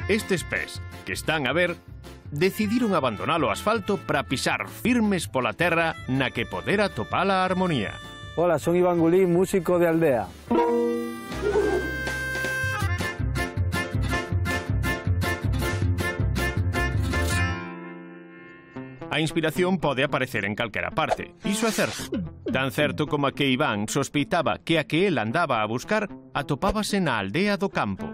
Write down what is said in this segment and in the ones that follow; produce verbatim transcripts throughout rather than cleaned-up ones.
Estes pés que están a ver decidiron abandonar o asfalto para pisar firmes pola terra na que poder atopar a armonía. Hola, son Iván Gulín, músico de aldea. A inspiración pode aparecer en calquera parte, iso é certo. Tan certo como a que Iván sospeitaba que a que el andaba a buscar atopábase na aldea do campo.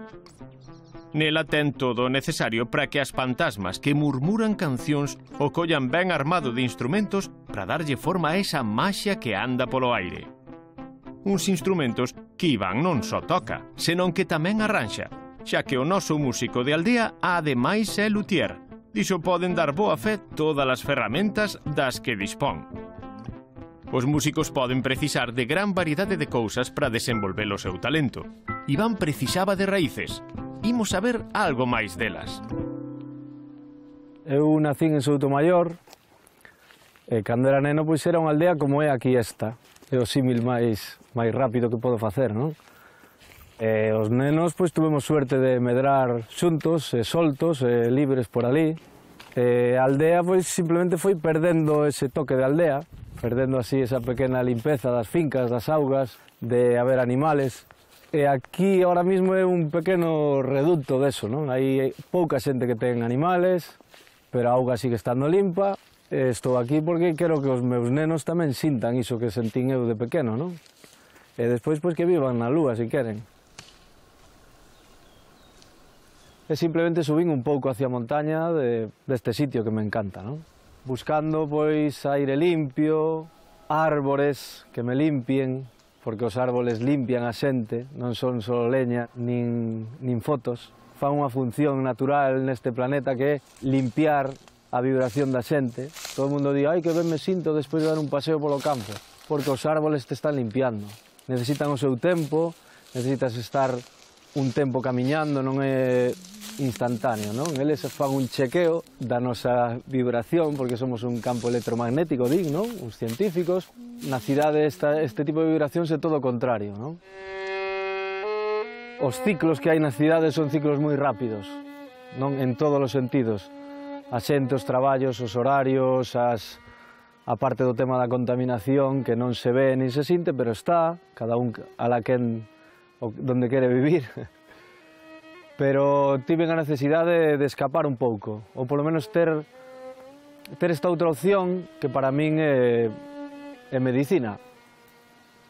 Nela ten todo o necesario para que as fantasmas que murmuran cancións o collan ben armado de instrumentos para darlle forma a esa maxia que anda polo aire. Uns instrumentos que Iván non só toca, senón que tamén arranxa, xa que o noso músico de aldea ademais é luthier. Dixo poden dar boa fe todas as ferramentas das que dispón. Os músicos poden precisar de gran variedade de cousas para desenvolver o seu talento. Iván precisaba de raíces. Imos a ver algo máis delas. Eu nacín en Soutomaior, e cando era neno pois era unha aldea como é aquí esta. É o símil máis, máis rápido que podo facer, non? E os nenos pois tuvemos suerte de medrar xuntos, e soltos, e libres por ali. E a aldea pois simplemente foi perdendo ese toque de aldea, perdendo así esa pequena limpeza das fincas, das augas, de haber animales. E aquí ahora mismo é un pequeno reducto deso, non? Hai pouca xente que ten animales, pero a auga sigue estando limpa. E estou aquí porque quero que os meus nenos tamén sintan iso que sentín eu de pequeno, non? E despois pois que vivan na lúa, se queren. E simplemente subín un pouco hacia a montaña de, deste sitio que me encanta, non? Buscando, pois, aire limpio, árbores que me limpien, porque os árboles limpian a xente, non son só leña, nin, nin fotos. Fan unha función natural neste planeta que é limpiar a vibración da xente. Todo o mundo di, ai, que ben me sinto despois de dar un paseo polo campo, porque os árboles te están limpiando. Necesitan o seu tempo, necesitas estar un tempo camiñando, non é instantáneo, non? Eles fan un chequeo da nosa vibración, porque somos un campo electromagnético, din, non? Os científicos. Na cidade esta, este tipo de vibracións é todo o contrario, non? Os ciclos que hai na cidade son ciclos moi rápidos, non? En todos os sentidos. A xente, os traballos, os horarios, as... a parte do tema da contaminación, que non se ve nin se sinte, pero está, cada un a la quen donde quere vivir. Pero tive a necesidade de escapar un pouco, ou polo menos ter, ter esta outra opción que para min é, é medicina,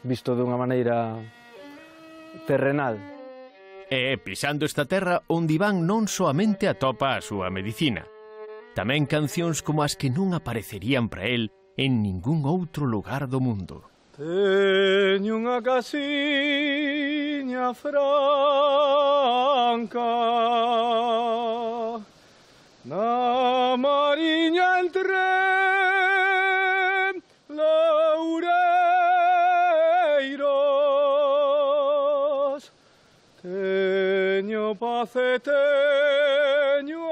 visto dunha maneira terrenal. E pisando esta terra onde Iván non soamente atopa a súa medicina, tamén cancións como as que non aparecerían para el en ningún outro lugar do mundo. Teño unha casiña franca na mariña entre loureiros. Teño paz e teño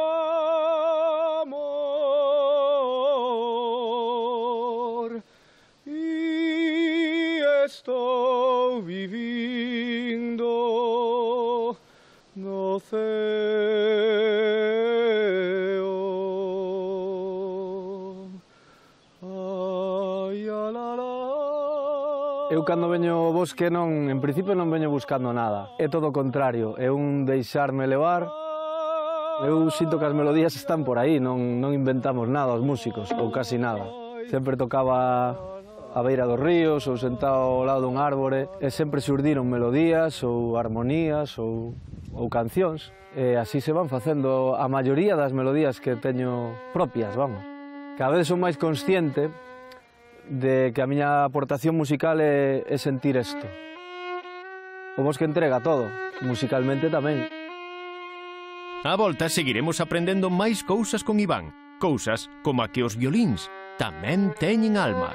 estou vivindo no ceo. Ai, eu cando veño ao bosque non, en principio non veño buscando nada. É todo o contrario, é un deixarme levar. Eu sinto que as melodías están por aí, non, non inventamos nada os músicos, ou casi nada. Sempre tocaba a beira dos ríos ou sentado ao lado dun árbore e sempre xurdiron melodías ou armonías ou, ou cancións e así se van facendo a maioría das melodías que teño propias, vamos. Cada vez son máis consciente de que a miña aportación musical é, é sentir isto. O bosque entrega todo, musicalmente tamén. Á volta seguiremos aprendendo máis cousas con Iván, cousas como a que os violíns tamén teñen alma.